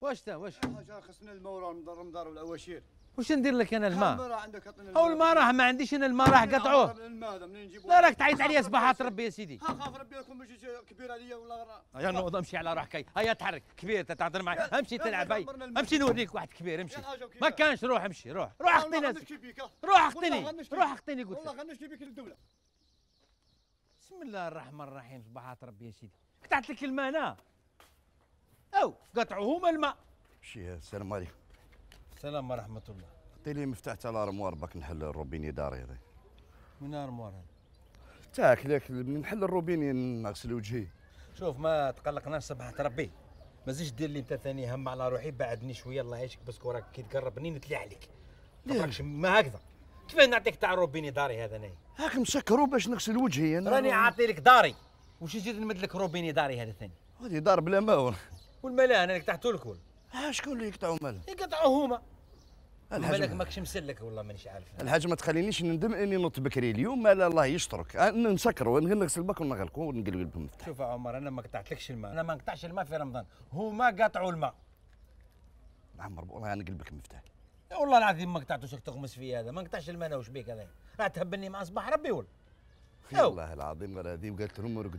واش حاجه خصنا الماء وراه المدار والعواشير. واش ندير لك انا الماء؟ الماء راه عندك عطينا او الماء راه ما عنديش انا الماء راه قطعوه. الماء هذا منين نجيبوه؟ لا راك تعيط عليا صباحات ربي يا سيدي. خاف ربي يكون ماشي كبير عليا ولا يا نوض امشي على روحك. هيا تحرك كبير تتعاطر معي. امشي تلعب هاي امشي نوريك واحد كبير امشي. ما كانش روح امشي روح اخطيني روح اخطيني قلت والله غنشتي بك للدوله. بسم الله الرحمن الرحيم صباحات ربي يا سيدي. قطعت لك الماء انا او قطعوا هما الماء. مشي السلام عليكم. السلام ورحمه الله. عطيني مفتاح تاع الارموار باك نحل الروبيني داري هذا. من ارموار هذا؟ تاعك لك نحل الروبيني نغسل وجهي. شوف ما تقلقناش صباحة ربي. ما زيدش دير لي انت ثاني هم على روحي بعدني شويه الله يعيشك باسكو راك كي تقربني نتلي عليك. ما راكش ما هكذا. كيفاه نعطيك تاع روبيني داري هذا انايا؟ هاك مسكرو باش نغسل وجهي انا. راني عاطي لك داري. واش نزيد نمد لك روبيني داري هذا ثاني؟ هذه دار بلا ماء. والماء لا انا اللي قطعته لك. شكون اللي يقطعوا مال؟ يقطعوا هما. مالك ماكش مسلك والله مانيش عارف. الحاجه ما تخلينيش ندم اني نط بكري اليوم. لا الله يسترك نسكروا نغسل باك ونغلقوا ونقلب المفتاح. شوف يا عمر انا ما قطعتلكش الماء. انا ما نقطعش الماء في رمضان. هما قطعوا الماء. عمر والله نقلب لك المفتاح. والله العظيم ما قطعتوش تغمس في هذا. ما نقطعش الماء انا واش بيك هذا؟ راه تهبني مع صباح ربي ولا؟ والله العظيم غير هذه وقالت لهم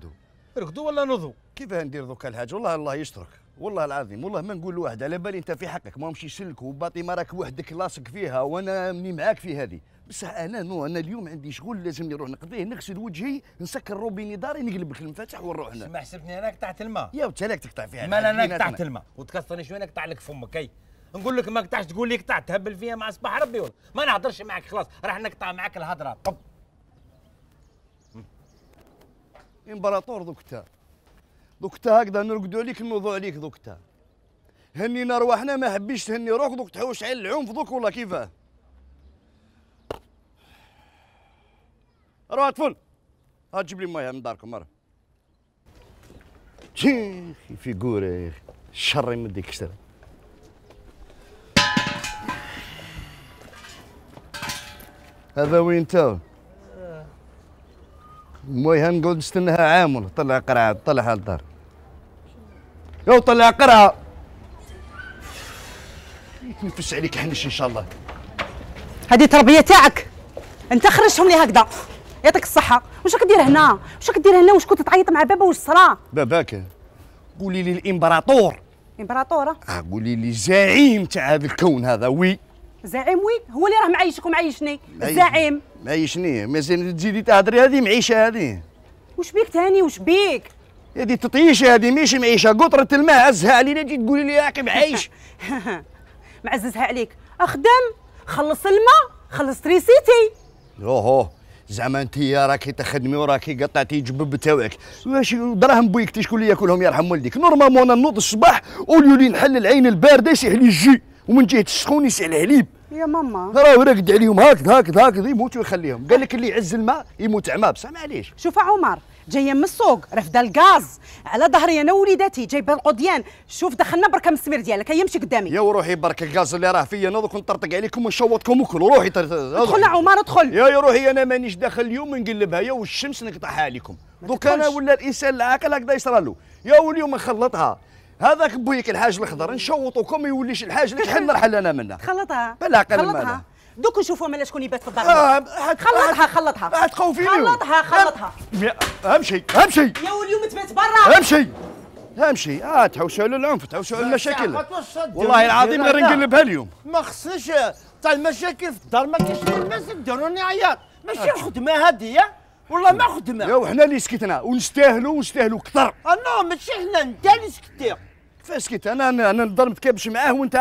رقدوا ولا نوضوا؟ كيفاه ندير دوكا الحاجه؟ والله الله يسترك والله العظيم. والله ما نقول لواحد على بالي انت في حقك ما نمشي سلك وباطي ما راك وحدك لاصق فيها وانا مني معاك في هذه. بصح انا انا اليوم عندي شغل لازم نروح نقضيه نغسل وجهي نسكر روبيني داري نقلب لك المفاتح ونروح هنا. ما حسبتني انا قطعت الماء. يا انت راك تقطع فيها. ما انا قطعت الماء وتكسرني شويه نقطع لك فمك. اي نقول لك ما قطعش تقول لي قطعت تهبل فيها مع صباح ربي والله ما نهضرش معك خلاص راح نقطع معك الهضره. طب امبراطور دوكتا هكذا نرقدوا عليك نوضوا عليك دوكتا. هنينا رواحنا ما حبيش تهني روحك دوك تحوش على العنف دوك ولا كيفاه؟ روح طفل ها تجيب لي ميه من داركم مرة. شيخي في قوره يا اخي الشر يمديك كسر. هذا وين تاو؟ المويه نقعد نستناها عام ولا طلع قرعه طلعها للدار. يو طلع قرعه. يتنفس عليك حنش ان شاء الله. هذه تربيه تاعك انت خرجتهم لي هكذا يعطيك الصحه. واش راك دير هنا؟ واش راك دير هنا؟ واش كنت تعيط مع بابا واش صرا؟ باباك قولي لي الامبراطور. امبراطوره؟ قولي لي زعيم تاع هذا الكون هذا. وي زعيم وين؟ هو اللي راه معيشك ومعيشني. الزعيم معيشني مازال تزيدي تهضري هذه معيشه هذه. واش بيك تاني واش بيك؟ هذه تطيشه هذه ماشي معيشه. قطره الماء عزها علينا تجي تقولي لي راك معيش. معززها عليك. اخدم خلص الماء خلص تريسيتي. اوه زعما انت راكي تخدمي وراكي قطعتي جبب تاوعك. واش دراهم بويك شكون اللي ياكلهم يرحم والديك؟ نورمالمون انا نوض الصباح وليولي نحل العين البارده يسيح لي الجي ومن جهه السخون يسيح الحليب. يا ماما راه راقد عليهم هكذا يموتوا يخليهم. قال لك اللي يعز الماء يموت عمى بصح معليش. شوف عمر جايه من السوق رافده الغاز على ظهري انا ووليداتي جايبه القضيان. شوف دخلنا بركه من السمير ديالك هيا يمشي قدامي. يا وروحي برك الغاز اللي راه فيا نوض نطرطق عليكم ونشوطكم وكلوا. روحي ادخل عمر ادخل. يا روحي انا مانيش داخل اليوم نقلبها يا والشمس نقطعها عليكم. دوك انا ولا الانسان العاقل هكذا يصرى له. يا واليوم نخلطها هذاك بويك الحاج الخضر نشوطوكم ما يوليش الحاج اللي حل نرحل انا منها. خلطها بالعقل مالها. دوك نشوفوا مالا شكون يبات في الدار. خلطها راح تخوفيني. خلطها امشي يا واليوم تبات برا. امشي تحوسوا على العنف تحوسوا على المشاكل. والله العظيم غير نقلبها اليوم. ما خصنيش تاع المشاكل في الدار ما كاينش الناس يديروني عياط. ماشي خدمه هذه والله ما خدمه. يا وحنا اللي سكتنا ونستاهلوا كثر. نو ماشي حنا انت اللي سكتي. كيفاش سكت انا نضل متكابش معاه وانت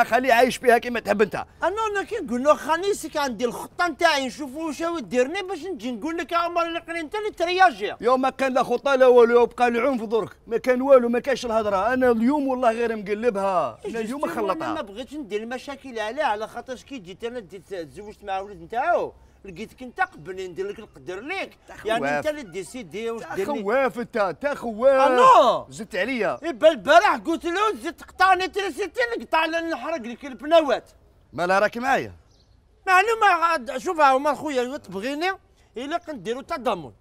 خالي عايش فيها كيما تحب انت. انا كي نقول له خليني سيك عندي الخطه نتاعي نشوفوا واش ديرني باش نجي نقول لك يا عمر اللي انت اللي ترياجي. يوم ما كان لا خطه لا والو بقى العنف درك ما كان والو ما كاينش الهضره. انا اليوم والله غير مقلبها. انا اليوم نخلطها. انا ما بغيتش ندير المشاكل على خاطرش كي جيت انا تزوجت مع ولد نتاعو لقيتك انت قبل ندير لك نقدر ليك يعني انت اللي ديسيدي واش دير لي. خواف انت خواف. زدت عليا. يبا البارح قلت له زدت تقطعني تريسيتي نقطع نحرق لك البنوات. مالها راكي معايا؟ معلومه شوف هما خويا تبغيني الا كنديروا تضامن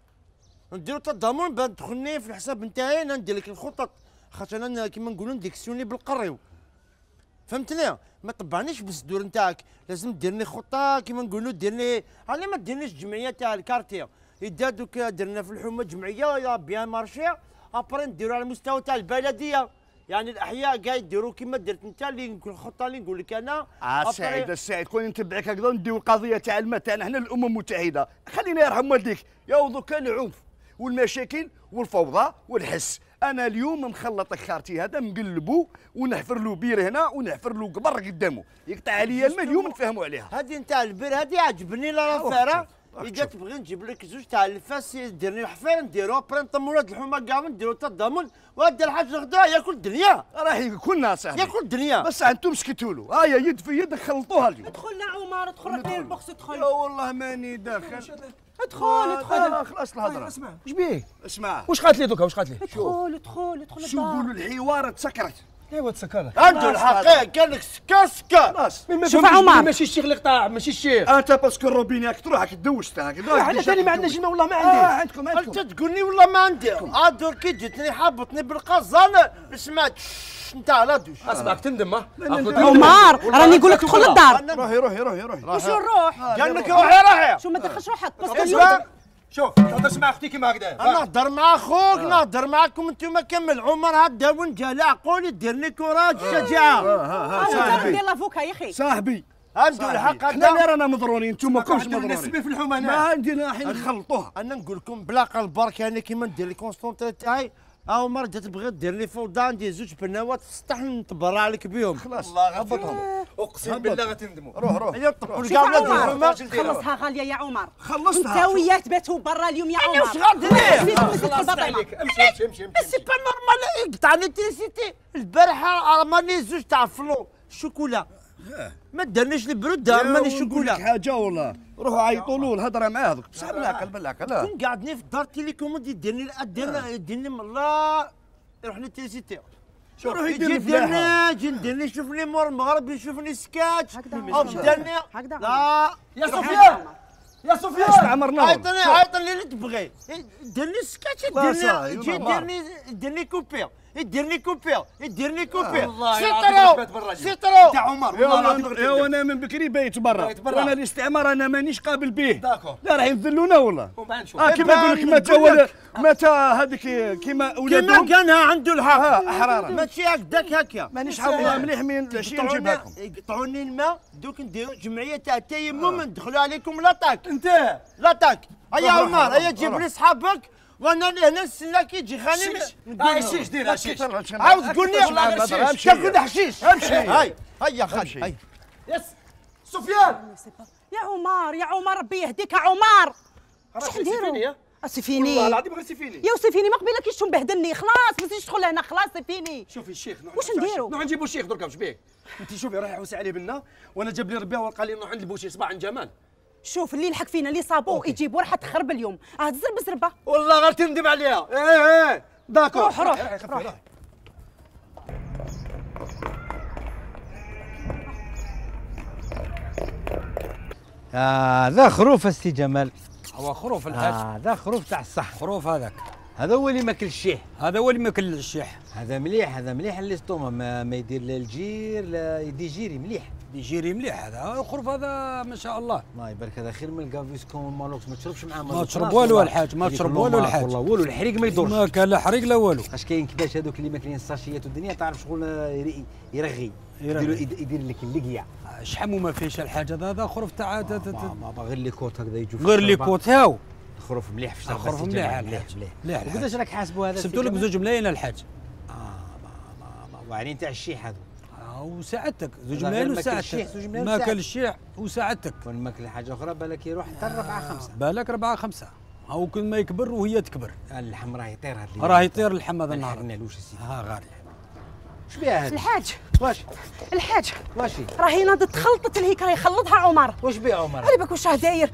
باه تدخلني في الحساب نتاعي ندير لك الخطط خاطر انا كيما نقولوا نديكسيوني بالقريو، فهمتني؟ ما طبعنيش بالصدور نتاعك، لازم ديرني خطه كيما نقولوا ديرني، على ما ديرنيش جمعيه تاع الكارتيه، اذا دوك درنا في الحومه جمعيه يا بيان مارشي، ابري نديروا على المستوى تاع البلديه، يعني الاحياء قاعد يديروا كيما درت انت اللي الخطه اللي نقول لك انا. سعيد السعيد كون نتبعك هكذا نديو القضيه تاع الماء تاعنا حنا الامم المتحده، خليني يرحم والديك يا دوكا العنف والمشاكل والفوضى والحس. انا اليوم مخلط خارتي هذا مقلبو ونحفر له بير هنا ونحفر له قبر قدامه، يقطع عليا الماء اليوم نفهموا عليها. هذه نتاع البير هذه عجبني لا راه اذا تبغي نجيب لك زوج تاع الفاس ديرني الحفير نديرو ابري نطمو ولاد الحومه كاع نديرو تضامن، وهذا الحاج غدا ياكل الدنيا، راح يكون ناصح ياكل الدنيا، بس انتم سكتوا له. هيا يد في يد خلطوها اليوم. ادخل عمر ادخل ربي البوكس ادخل. لا والله ماني داخل. ادخل خلاص الهضره. اسمع واش بيه؟ اسمع واش قالت لي دوكا واش قالت لي؟ ادخل شو يقولوا الحوار تسكرت. ايوا تسكر عنده الحقيقه قال لك سكر سكر. خلاص شوف عمر ماشي الشيخ اللي قطع ماشي الشيخ. انت باسكو الروبينات تروح دوشت هكذا. حنا ثاني ما عندناش الماء والله ما عندي. عندكم انت تقولني والله ما عندي، عاد كي جيتني حابطني بالقزان سمعت انت على دوش. اسمعك تندم عمر راني نقول لك ادخل للدار. روحي وشو نروح؟ قال لك روحي شو ما تدخلش روحك بس اسمع شوف تهضرش مع اختي كيما هكذا. نهضر مع اخوك نهضر معكم انتم كمل. عمر هدا ونجا عقولي ديرني كوراج شجاعه. انا ندير لافوكا يا اخي صاحبي عنده الحق حنا اللي هذا. رانا مضرورين انتم ماكمش مضرورين. نسبي في الحومه ما هنا. عندنا حين نخلطوها. انا نقول لكم بلا قلب برك يعني كيما ندير لي كونستونتري تاعي. عمر جات تبغي دير لي فوضى ندير زوج بنوات في السطح نتبرع لك بهم. خلاص والله هبطهم. اقسم بالله غتندموا. روح هيا طبقوا شوف كاع ولاد عمر الحومه. خلصها غاليه يا عمر. خلصتها. انت وياه تباتوا برا اليوم يا عمر. واش غادير؟ خلاص عليك امشي سي با نورمال يقطع الالكتريسيتي. البارحه رماني زوج تاع فلو شوكولا ما دارنيش البرود رماني شوكولا. حاجه والله روحوا عيطوا له الهضره معاه دوك بصح بالعقل. كون قعدني في الدار تيليكوموند يديرني يديرني من الله يروح لي تيليسيتي. روح يجي يدير فلاحه. يجي نديرني يشوفني مور المغرب يشوفني سكاتش هكذا. او دارني هكذا. لا يا سفيان يا سفيان استعمرنا عيطني اللي تبغي ديرني سكاتش صاي، يجي يديرني كوبي يديرني والله العظيم بات برا اليوم. سيطرو تاع عمر والله العظيم يا انا من بكري بايت برا بايت برا. وانا الاستعمار انا مانيش قابل به. داكور. لا راح يذلونا والله. وما نشوف. كيما نقول لك متى هذيك كيما ولادهم كيما كانها عنده الحق احرارا ماشي هكذاك هكا. مانيش حافظها مليح من العشيه نجيبها لكم. يقطعوني الماء دوك نديروا جمعيه تاع التيمم ندخلوا عليكم لاطاك انت لاطاك. هيا عمر هيا جيب لي صحابك وانا اللي هنا نستنى كي يجي خاني هاي دير شيش. عاوز تقول لي تاكل حشيش. امشي هيا خالي يس سفيان يا عمر ربي يهديك يا عمر. راك نديرو؟ سيفيني سيفيني والله العظيم غير سيفيني. يا وسيفيني ما قبيلك كيش مبهدلني خلاص ما تزيدش تدخل هنا خلاص سيفيني. شوفي الشيخ واش نديرو؟ نروح نجيبو الشيخ دركا واش بيه؟ انت شوفي روحي حوسي عليه بنا وانا جاب لي ربي ولقى لي نروح عند البوشي صباح عند جمال. شوف اللي يلحق فينا اللي صابوه يجيبوه راح تخرب اليوم. زربه والله غير تندم عليها. ايه داكور. روح هذا خروف السي جمال. هو خروف الحاج. هذا خروف تاع الصح. خروف هذاك هذا هو اللي ماكل الشيح. هذا هو اللي ماكل الشيح. هذا مليح الاستوما ما يدير لا الجير لا يدي جيري مليح. يجيري مليح هذا الخروف هذا ما شاء الله. الله يبارك هذا خير من الكافيسكون مالوكس ما تشربش معاه ما تشرب والو الحاج ما تشرب والو الحاج. والله والو الحريق ما يدورش. ما كان لا حريق لا والو. اش كاين كيفاش هذوك اللي ماكلين الساشيات والدنيا تعرف شغل يرغي يدير لك اللقيا. شحال ما فيهش الحاج هذا خروف تاع غير لي كوت هكذا يجوا غير لي كوت هاو. خروف مليح في الشرب. خروف مليح مليح. قداش راك حاسبوا هذا؟ سبتوا لك بزوج ملايين الحاج. واعرين تاع الشيح هذو. وساعدتك زوج ملايين وساعدتك. ما كان الشيح وساعدتك. كون ماكل حاجه اخرى بالك يروح حتى 4 5. بالك 4 5 هاو كل ما يكبر وهي تكبر. اللحم راه يطير هذا راه يطير اللحم هذا النهار. ما نعلوش السيدي. غالي. اش بها هذا؟ الحاج واشي راهي ناضت تخلطت الهيك راهي خلطها عمر. واش بها عمر؟ على بالك واش راه داير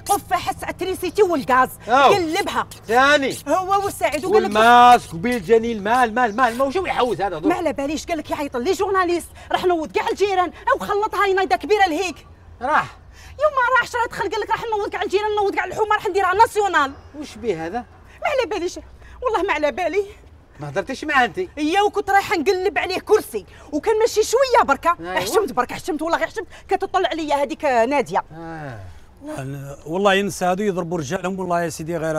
قفه حس التريسيتي والغاز قلبها ثاني هو والسعيد وقال لك والماسك وبالجاني المال واش يحوس هذا ما على باليش قال لك يعيط لي جورناليست راح نوض كاع الجيران او خلطها هاي نايده كبيره لهيك راح يوم ما راحش راه دخل قال لك راح نوض كاع الجيران نوض كاع الحومه راح نديرها ناسيونال. واش بيه هذا؟ ما على باليش والله ما على بالي ما هضرتيش معاه انت؟ هي وكنت رايحه نقلب عليه كرسي وكان ماشي شويه بركه. أيوة. حشمت بركه، حشمت والله غير حشمت، كتطلع عليا هذيك ناديه. والله ينسى هذو يضربوا رجالهم والله يا سيدي غير.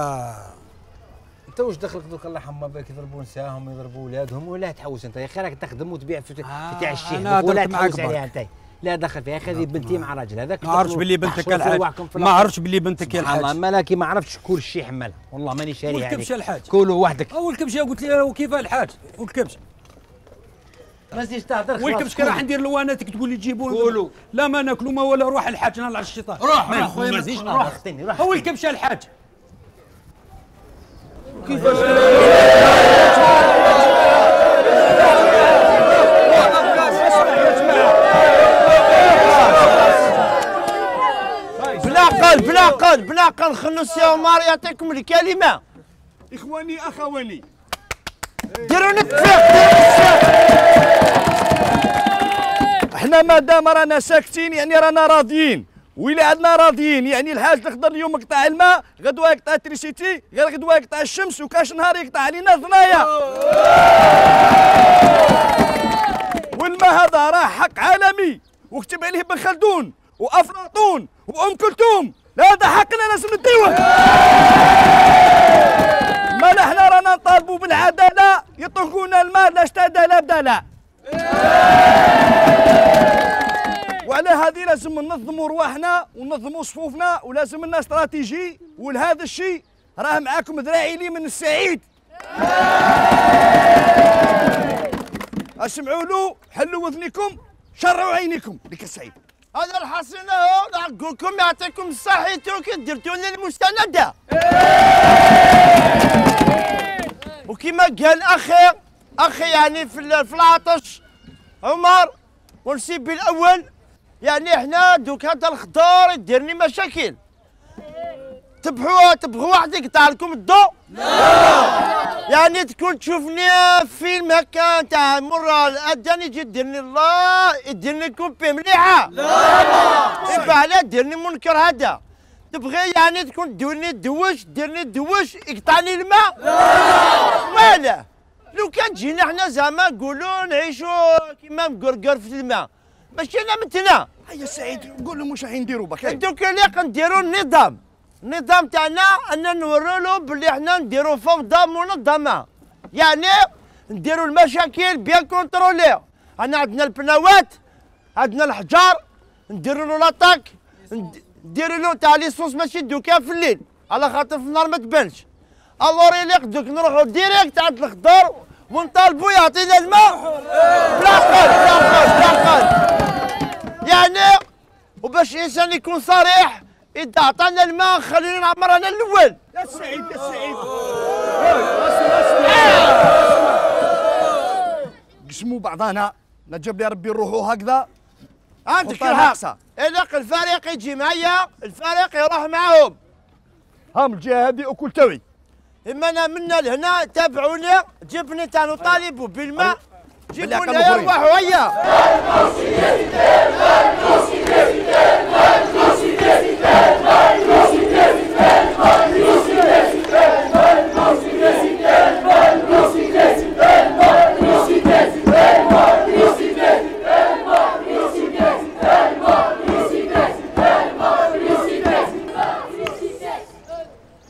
انت واش دخلك دوك الله يحمى بك يضربوا نساهم يضربوا ولادهم ولا تحوس انت؟ يا اخي راك تخدم وتبيع في تاع الشيخ ولا تحوس عليها انت. لا دخل فيها، خذي بنتي مع راجل هذاك. ما عرفتش باللي بنتك الحاج، ما عرفتش باللي بنتك يا الحاج. والله مالك ما عرفتش كل شيء حملها، والله ماني شاريها عليك. والكبشه الحاج كولوا وحدك. والكبشه قلت لي كيف الحاج والكبشه؟ ما تزيدش تهضر. والكبشه كي راح ندير لواناتك تقول لي جيبوا كولوا. لا ما ناكلوا ما ولا روح الحاج نهار على الشيطان. روح ما خويا ما تزيدش روح اختني روح. هو الكبشه الحاج. كيفاش بلا قل خلوا السي عمر يعطيكم الكلمه. اخواني اخواني ديروا التفاق. احنا مادام رانا ساكتين يعني رانا راضيين، وإلا عندنا راضيين يعني الحاج الخضر اليوم يقطع الماء، غدوه يقطع التريسيتي، غير غدوه يقطع الشمس، وكاش نهار يقطع علينا ثنايا. والماء هذا راه حق عالمي وكتب عليه ابن خلدون وافلاطون وام كلثوم، هذا حقنا لازم نديوه. ما احنا رانا نطالبوا بالعداله، يطلقونا الماء لا اشتدى لا بدلا. وعلى هذه لازم ننظموا رواحنا وننظموا صفوفنا، ولازم لنا استراتيجي، ولهذا الشيء راه معاكم ذراعي لي من السعيد. اسمعوا له، حلوا اذنكم، شرعوا عينيكم، لك السعيد. هذا الحصيل اهو نقول لكم يعطيكم الصحة كي درتوا لنا المستندة. وكما قال اخي يعني في العطش عمر ونسيب الاول، يعني احنا دوك هذا الخضار يديرني مشاكل. تبغوا واحد يقطع لكم الضوء؟ لا. يعني تكون تشوفني فيلم هكا تاع مرة الاذان يجي يديرني الله يديرني كوبي مليحة؟ لا. يبقى علاه ديرني منكر هذا. تبغي يعني تكون ديرني دوش يقطعني الماء؟ لا. ولا لو كان جينا احنا زعما نقولوا نعيشوا كيما مقرقر في الماء، ماشي انا متنا. هيا سعيد قول لهم واش راح نديروا بك. دوك اللي نديروا النظام تاعنا ان نوروا له باللي احنا نديروا فوضى منظمه، يعني نديروا المشاكل بيان كونترولي. انا عندنا البناوات، عندنا الحجار، نديروا له لاطاك، نديروا له تاع ليسونس ماشي دوكا في الليل على خاطر في النهار ما تبانش. الور يليق دوك نروحوا ديريكت عند الخضر ونطالبوا يعطينا الماء بلا قل. يعني وباش الانسان يكون صريح، إذا عطانا الماء خلينا نعمر انا الاول. يا سعيد يا سعيد قسموا بعضنا، نجيب لي ربي نروحوا هكذا. عندك الحق، إذا الفريق يجي معايا الفريق يروح معاهم. هام الجهه هذه اكل توعي. اما انا منا لهنا تابعوني، جبني تاع نطالبوا بالماء، جيبوني يروحوا هيا.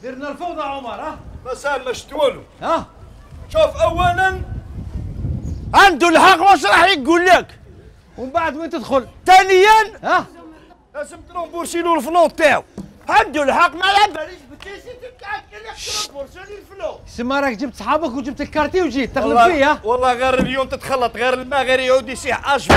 درنا الفوضى عمر. ها مساء مشتولو. ها شوف اولا عنده الحق واش راح يقول لك، ومن بعد وين تدخل؟ ثانيا ها لازم ترومبورسي له الفلون تاعو. عنده الحق ما على باليش بتيسيتك ترومبورسي الفلوس. سما راك جبت صحابك وجبت الكارتي وجيت تغلب فيا. والله غير اليوم تتخلط، غير الماء غير يعود يسيح اش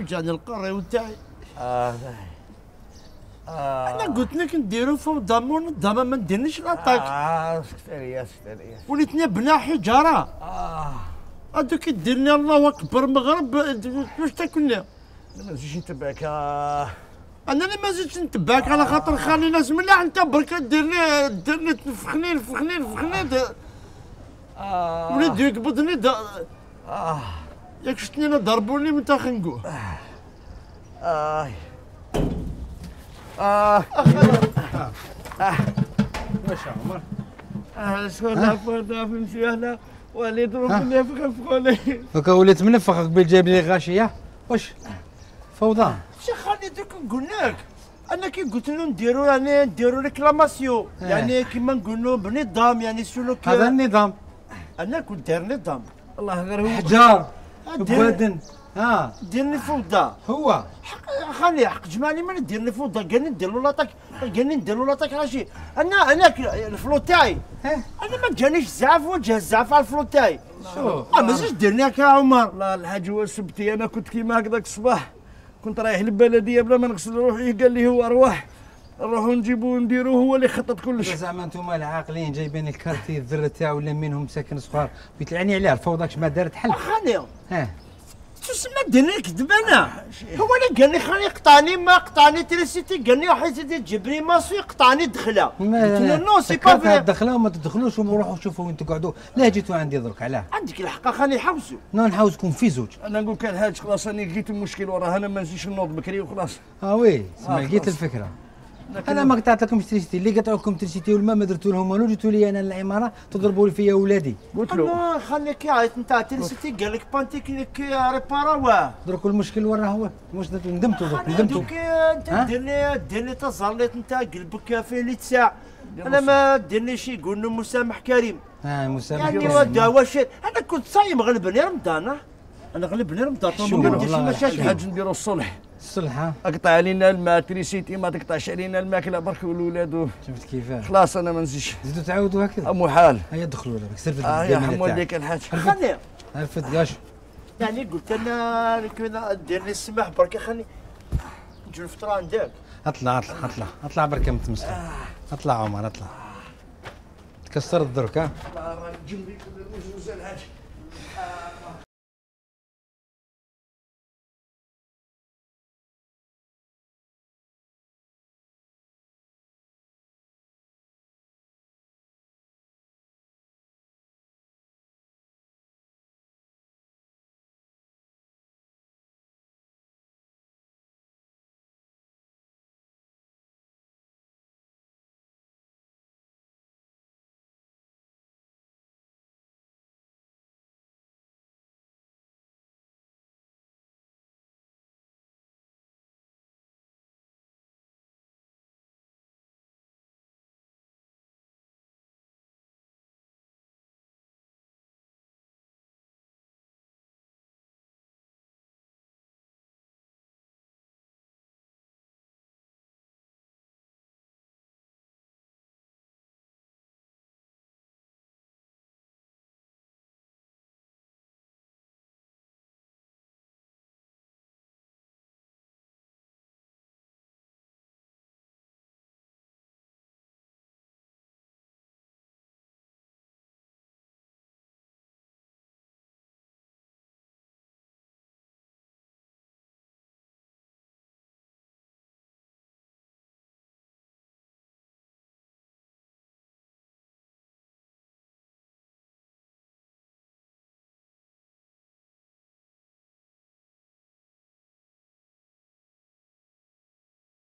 وجاني القريو تاعي. انا قلت لك نديرو فوضى منظمه ما نديرنيش لاطاك. سكتاريات سكتاريات. وليتني بنا حجاره. هذوك يديرني الله اكبر مغرب واش تاكلنا؟ ما نزيدش نتبعك. انا اللي ما زدتش نتبعك على خاطر خالي ناس ملاح انت برك ديرني تفخني وليد يقبضني ياك شفتني انا ضربوني من تا خنقوه. واش عمر؟ شكون فهمتي انا وليد ربي فخوني. هكا وليت منفخ قبل جايب لي غاشيه واش فوضى. شي خالي دوك نقول لك انا كي قلت له نديرو يعني نديرو ريكلاماسيون يعني كيما نقولوا بنظام يعني سلوك. هذا النظام انا كنت داير نظام الله غير هو حجار بوادن. ديرني فوضى هو خلي حق جمالي ما نديرني فوضى قالني ندير له لاطاك قالني ندير له لاطاك راشي انا الفلو تاعي انا ما جانيش زعف وجه الزعف على الفلو تاعي. شوف ما زيدش ديرني هكا عمر. والله الحاج هو سبتي انا كنت كيما هكذاك الصباح كنت رايح للبلديه بلا ما نغسل روحي قال لي هو ارواح نروحوا نجيبوه نديروه هو اللي خطط كلش. زعما انتم العاقلين جايبين الكارتي الذره تاعو ولا منهم ساكن صغار بيتلعني عليه الفوضى كش ما دارت حل. خلي ها تسمى ديرني نكذب انا هو اللي قال لي خلي يقطعني ما قطعني تريسيتي قال لي حيت تجيب لي ماسو يقطعني دخله. قلت له نو سي با في الدخله وما تدخلوش وروحوا شوفوا وين تقعدوا. لا جيتوا عندي درك علاه عندك الحق خلي يحوسوا. نحاوزكم في زوج. انا نقول كان الحاج خلاص انا لقيت المشكل وراه انا ما نزيدش نوض بكري وخلاص. وي سمع لقيت الفكره. انا ما قطعت لكم تريسيتي اللي قطعوا لكم تريسيتي والما ما درتوا لهم والو جيتوا لي انا العماره تضربوا لي فيا ولادي. قلت له خليك يعيط نتاع تريسيتي قال لك بانتيكنيك ريبارا واه درك المشكل وين راه هو واش ندمتوا درك ندمتوا. دوك انت ديرني تزرليت نتاع قلبك فيه اللي تساع انا ما ديرنيش يقول له مسامح كريم. مسامح يعني كريم. ودا واش انا كنت صايم غلبني رمضان انا غلبني رمضان ما نديرش مشاكل. الحاج نديروا الصلح الصلح اقطع علينا الماء تريسيتي ما تقطعش علينا الماكله برك والولاد شفت كيفاش خلاص انا ما نزيدش. زيدوا تعاودوا هكذا محال. هيا دخلوا لك سير يا حموليك الحاج خلي عرفت كاش يعني قلت انا كنا ديرني السماح برك خلي نجي الفطره عندك. اطلع برك متمسخر. اطلع عمر اطلع تكسر الدرك. جنبي كل المجوز الحاج.